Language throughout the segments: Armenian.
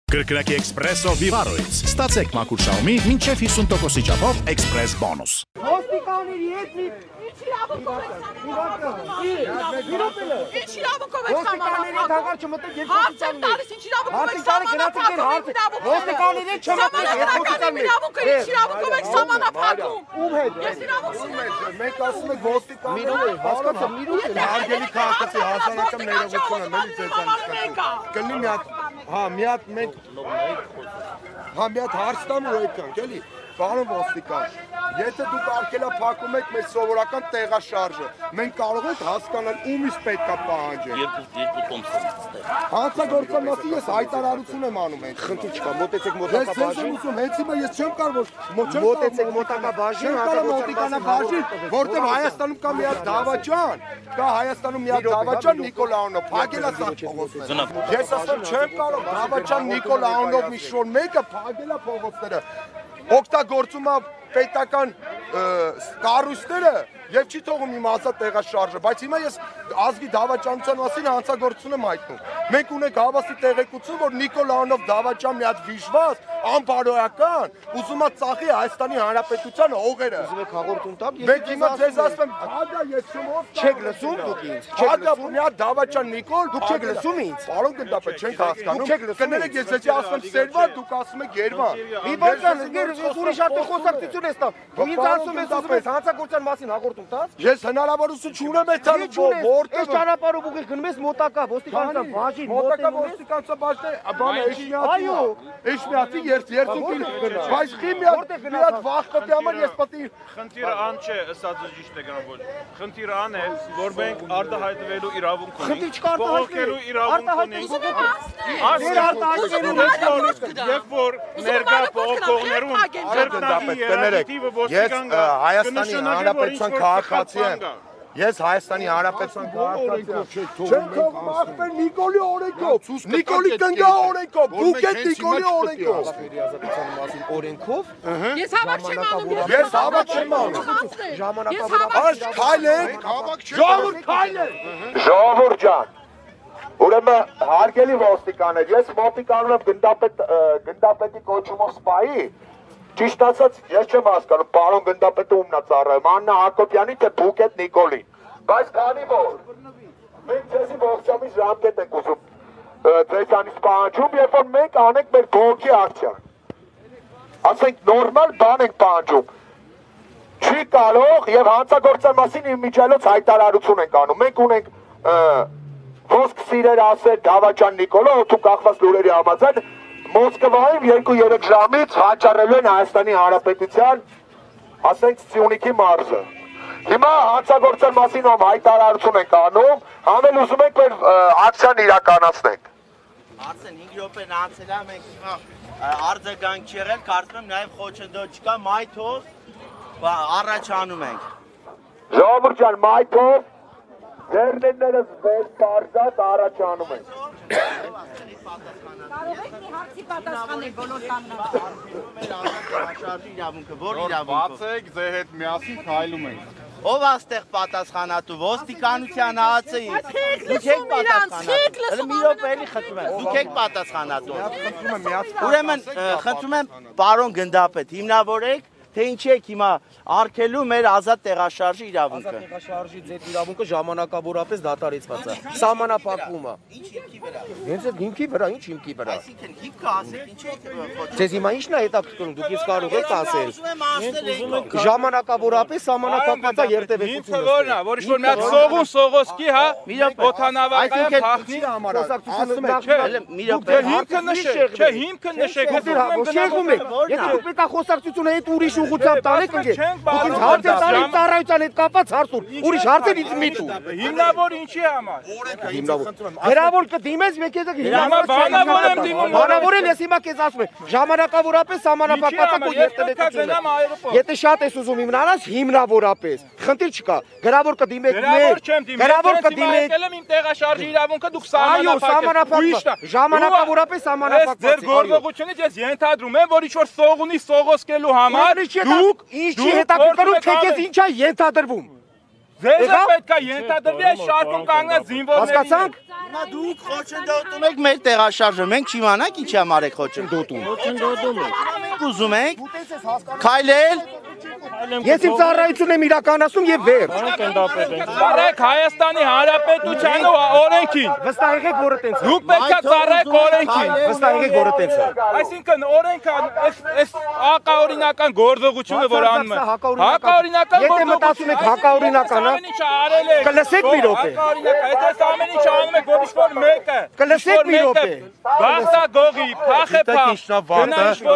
Կրկնակի Էքսպրեսո Վիվարոից ստացեք մաքուր շահումի մինչև 50%-ի չափով Էքսպրես բոնուս։ Ոստիկանների հետ մի Ինչ իրավունքով եք Ոստիկանների հաղար չմտեք Ոստիկանների ինչ իրավունքով եք սահմանափակում։ Ում հետ։ Ես իրավունք Մենք ասում ենք ոստիկանները հասկացա հարգելի քաղաքացի հասարակական ներողություն եմ էլի ձեզանից կլինի մի հատ մի հատ հարց տամ ու եկանք էլի Պարոն ոստիկան, եթե դուք արգելափակում եք մեր սովորական տեղաշարժը, մենք կարող ենք հասկանալ ումից պետք է պահանջենք։ Երկու տոմս եմ ստեղ։ Հանցագործության մասին ես հայտարարություն եմ անում ենք։ Խնդիր չկա, մոտեցեք մոտակա բաժին։ Հենց հիմա ես չեմ կարող մոտեցեք մոտակա բաժին, հանցագործության որտեղ Հայաստանում կա մի հատ դավաճան, կա Հայաստանում մի հատ դավաճան Նիկոլաոնով, փակել է սա փողոցները։ Ես ասում չեմ կարող դավաճան Նիկոլաոնով մի շոր մեկը փակել է փողոցները։ Օգտագործում է պետական կառույցները եւ չի թողում իմ ասած տեղաշարժը, բայց հիմա ես ազգի դավաճանության մասին հանցագործություն եմ հայտնում։ Մենք ունենք հավաստի տեղեկություն, որ Նիկոլաոնով դավաճան մի հատ վիժված, անբարոյական, ուզում է ծախի Հայաստանի Հանրապետության հողերը։ Ուզում եք հաղորդում տալ, Մենք հիմա ձեզ ասում եմ, հագա ես չմոտ չեք լսում դուք ինձ։ Հագա մի հատ դավաճան Նիկոլ, Դուք չեք լսում ինձ։ Պարոն գնդապետ չենք հասկանում։ Կներեք ես ձեզ ասում Սերվա, դուք ասում եք Երևան։ Մի բան ուրիշ հատ խոսակցություն ես տա։ Ինձ ասում ես ուզում ես հանցագործության մասին հաղորդում տաս։ Ես հնարավորություն չունեմ այդքան որտեղ Այս ճանապարհով ուղիղ գնում ես մոտակա ոստիկանության բաժին, մոտակա ոստիկանության բաժնը, բանը Էշմիածի երթուղին բայց խի մի հատ վախ պետք է համար ես պետք է Խնդիրը ան չէ, ըստ ճիշտ է գնալ ոչ։ Խնդիրը ան է, որ մենք արտահայտվելու իրավունք ունենք։ Խնդիր չկա արտահայտվելու իրավունք ունենք։ Երբ որ ներկա փոխողներուն Ես Հայաստանի Հանրապետության քաղաքացի եմ։ Ես Հայաստանի Հանրապետության քաղաքացի եմ։ Չեմ թող մախվել Նիկոլի օրենքով։ Նիկոլի կնգա օրենքով։ Դուք եք Նիկոլի օրենքով։ Օրենքով Ես հավաք չեմ անում։ Ես հավաք չեմ անում։ Այս քայլեք, ժողովուրդ քայլեք։ Ժողովուրդ ջան։ Ուրեմն հարգելի ոստիկաններ, ես ոստիկանում եմ գնդապետի կոչումով սպայի։ Ճիշտ ասած, ես չեմ հասկանում, պարոն գնդապետը ումն է ծառայում, Աննա Հակոբյանի թե Բուկետ Նիկոլին։ Բայց քանի որ մենք ձեզի ողջամիտ ժամկետ ենք ուզում ձեզանից պահանջում, երբ որ մենք անենք մեր բողոքի ակցիան։ Ասենք նորմալ բան ենք պահանջում։ Չի կարող եւ հանցագործության մասին իմիջիայլոց հայտարարություն ենք անում։ Մենք ունենք ոսկ սիրեր ասել Դավաճան Նիկոլը, օդու կախված լուրերի համաձայն Մոսկվայում 2-3 ժամից հաճարելու են Հայաստանի Հանրապետության, ասենք Սյունիքի մարզը։ Հիմա հանցագործության մասին հայտարարություն ենք անում, համել ուզում ենք մեր ակցիան իրականացնենք։ Արդեն 5 րոպեն անցել է, մենք հիմա արձագանք չեղել, կարծում եմ նաև խոչընդոտ չկա, մայթով առաջանում ենք։ Ժողովուրդ ջան, մայթով ձեռներս վեր պարզած առաջանում ենք։ Կարող եք մի հարցի պատասխանել բոլոր բացեք, ձեր հետ միասին քայլում ենք։ Ով աստեղ պատասխանատու, ոստիկանության ԱԱՑ-ի։ Դուք եք պատասխանատու։ Մի րոպե էլի խնդրում եմ, դուք եք պատասխանատու։ Ուրեմն խնդրում եմ պարոն գնդապետ, հիմնավորեք թե ինչ եք հիմա արգելու մեր ազատ տեղաշարժի իրավունքը։ Ազատ տեղաշարժի ձեր իրավունքը ժամանակավորապես դադարեցված է։ Սահմանափակվում է։ Ինչ հիմքի վրա։ Հենց այդ հիմքի վրա, ինչ հիմքի վրա։ Այսինքն հիմքը ասեք, ինչ եք խոչընդոտ։ Ձեզ հիմա ի՞նչն է հետաքրքրում, դուք ինձ կարող եք ասել։ Ժամանակավորապես սահմանափակված է երթևեկությունը։ Հիմքը որն է, որ ինչ-որ մի հատ սողոսկի, հա, օդանավակայա փախնի համար։ Ասում եք, Մի րոպե։ Հիմքը նշեք, չէ, հիմքը նշեք։ Շեղում եք։ Եթե դուք պետք է խոսակցությունը հետ ուրիշ ուղղությամբ տանեք ընկեր։ Դուք ինձ հարց եք տալիս ծառայության հետ կապված հարցուր։ Ուրիշ հարցեր ինձ մի տու։ Հիմնավոր ինչի համար։ Հրավոր կդիմես, մեկ ես Բանավոր եմ դիմում։ Բանավորել ես հիմա քեզ ասում եմ, ժամանակավորապես սահմանափակված է քո երթևեկությունը։ Եթե շատ ես ուզում հիմնանաս, հիմնավորապես։ Խնդիր չկա։ Գրավոր կդիմեք մեր։ Գրավոր կդիմեք։ Եկել եմ իմ տեղաշարժի իրավունքը դուք Այո, սահմանափակված։ Ժամանակավորապես սահմանափակված։ Ձեր գործողությունից ես ենթադրում եմ, որ ինչ-որ սող ունի սողոսկելու համար դուք ինչի հետաքրքրում թե քեզ ինչ է ենթադրվում։ Ձեզ պետք է ենթադրվի այս շարքում կանգնած զինվորների։ Հասկացանք։ Հիմա դուք խոչընդոտում եք մեր տեղաշարժը, մենք չիմանանք ինչ համար եք խոչընդոտում։ Մենք ուզում ենք քայլել։ Ես իմ ծառայությունն եմ իրականացնում եւ վեր։ Ծառայեք Հայաստանի Հանրապետության օրենքին։ Վստահ եղեք, որը տենց է։ Դուք պետք է ծառայեք օրենքին։ Վստահ եղեք, որը տենց է։ Այսինքն օրենքը այս հակաօրինական գործողությունը, որ անում են։ Հակաօրինական Եթե մտածում եք հակաօրինական, կլսեք մի րոպե։ Եթե ամեն ինչ անում եք, որ ինչ-որ մեկը։ Կլսեք մի րոպե։ Գաղտագողի, փախեփախ։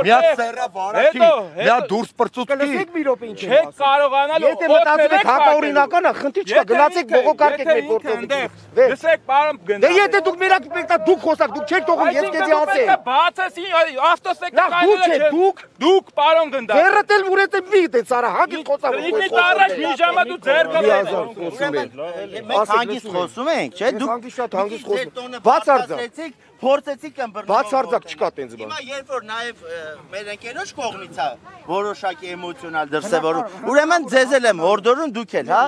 Միա սերա վարակի, միա դուրս պրծուցքի։ Կլսեք մի րոպե ինչ է։ Չեք կարողանալ Եթե մտածում եք հակաօրինական է, խնդիր չկա, գնացեք բողոքարկեք մեր գործողությունը։ Լսեք, պարոն Դե եթե դուք մերակ պետք է դուք խոսակ, դուք չեք թողում, ես քեզի ասեմ։ Բացեցի ավտոսեկտորը Դուք պարոն գնդա։ Ձեռդ էլ ուրետ է մի դե սարա հագի խոսակ։ Ինձ առաջ մի ժամա դու ձեռ Մենք հանգիստ խոսում ենք, չէ՞։ Դուք հանգիստ շատ հանգիստ խոսում։ բացարձակ փորձեցիք ըմբռնել։ Բացարձակ չկա տենց բան։ Հիմա երբ որ նաև մեր ընկերոջ կողմից է որոշակի էմոցիոնալ դրսևորում, ուրեմն ձեզ էլ եմ հորդորում դուք էլ, հա։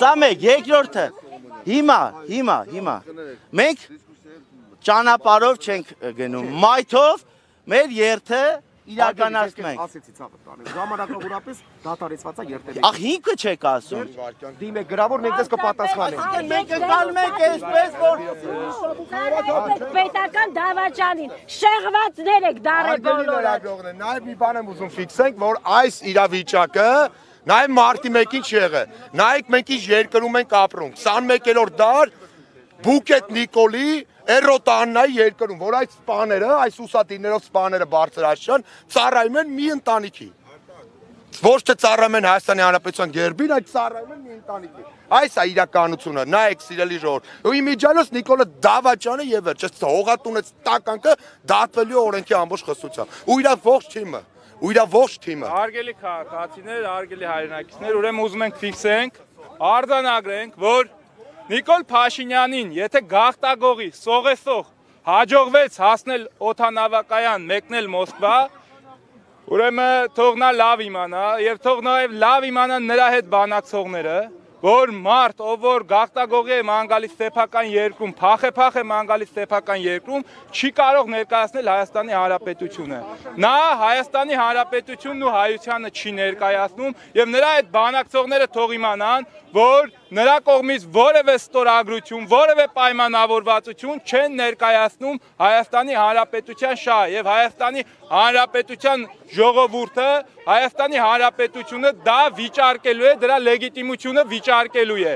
Սա մեկ, երկրորդը։ Հիմա մենք ճանապարհով չենք գնում, մայթով մեր երթը իրականացնում ենք։ Ասեցի ցավը տանեմ։ Ժամանակավորապես դատարեցված է երթերը։ Ախ ինքը չեք ասում։ Դիմեք գրավոր մենք ձեզ կպատասխանենք։ Մենք ընկալում ենք այսպես որ պետական դավաճանին շեղվածներ եք դարել բոլորը։ Նաև մի բան եմ ուզում ֆիքսենք, որ այս իրավիճակը նաև մարտի 1-ին չեղը։ Նայեք մենք ինչ երկրում ենք ապրում։ 21-րդ դար Բուկետ Նիկոլի Էրոտաննայի երկրում, որ այդ սպաները, այս ուսատիներով սպաները բարձրաշան ծառայում են մի ընտանիքի։ Ոչ թե ծառայում են Հայաստանի Հանրապետության գերբին, այլ ծառայում են մի ընտանիքի։ Այս է իրականությունը, նայեք սիրելի ժողովուրդ։ Ու իմիջիալոց Նիկոլը Դավաճյանը եւ վերջ, հողատունեց տականքը դատվելու օրենքի ամբողջ խստությամբ։ Ու իր ողջ թիմը։ Հարգելի քաղաքացիներ, հարգելի հայրենակիցներ, ուրեմն ուզում ենք ֆիքսենք, արձանագրենք, որ Նիկոլ Փաշինյանին, եթե գաղտագողի սողեսող հաջողվեց հասնել օդանավակայան, մեկնել Մոսկվա, ուրեմն թող նա լավ իմանա եւ թող նաեւ լավ իմանան նրա հետ բանակցողները, որ մարդ, ով որ գաղտագողի է ման գալիս սեփական երկրում, փախեփախ է ման գալիս սեփական երկրում, չի կարող ներկայացնել Հայաստանի Հանրապետությունը։ Նա Հայաստանի Հանրապետությունն ու հայությանը չի ներկայացնում եւ նրա այդ բանակցողները թող իմանան, որ նրա կողմից որևէ ստորագրություն, որևէ պայմանավորվածություն չեն ներկայացնում Հայաստանի Հանրապետության շահ եւ Հայաստանի Հանրապետության ժողովուրդը, Հայաստանի Հանրապետությունը դա վիճարկելու է, դրա լեգիտիմությունը վիճարկելու է։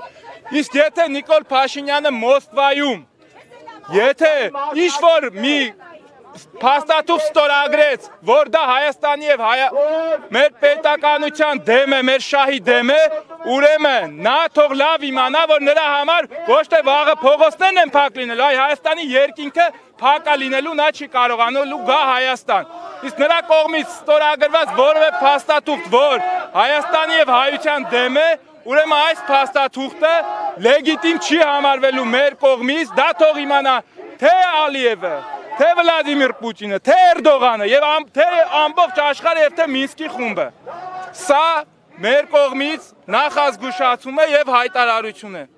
Իսկ եթե Նիկոլ Փաշինյանը Մոսկվայում, եթե ինչ-որ մի փաստաթուղթ ստորագրեց, որ դա Հայաստանի եւ մեր պետականության դեմ է, մեր շահի դեմ է, ուրեմն նա թող լավ իմանա, որ նրա համար ոչ թե վաղը փողոցներն են փակ լինելու, այլ Հայաստանի երկինքը փակ է լինելու, նա չի կարողանալու գա Հայաստան։ Իսկ նրա կողմից ստորագրված որևէ փաստաթուղթ, որ Հայաստանի եւ հայության դեմ է, ուրեմն այս փաստաթուղթը լեգիտիմ չի համարվելու մեր կողմից, դա թող իմանա թե Ալիևը, թե Վլադիմիր Պուտինը, թե Էրդողանը եւ թե ամբողջ աշխարհը եւ թե Մինսկի խումբը։ Սա մեր կողմից նախազգուշացում է եւ հայտարարություն է։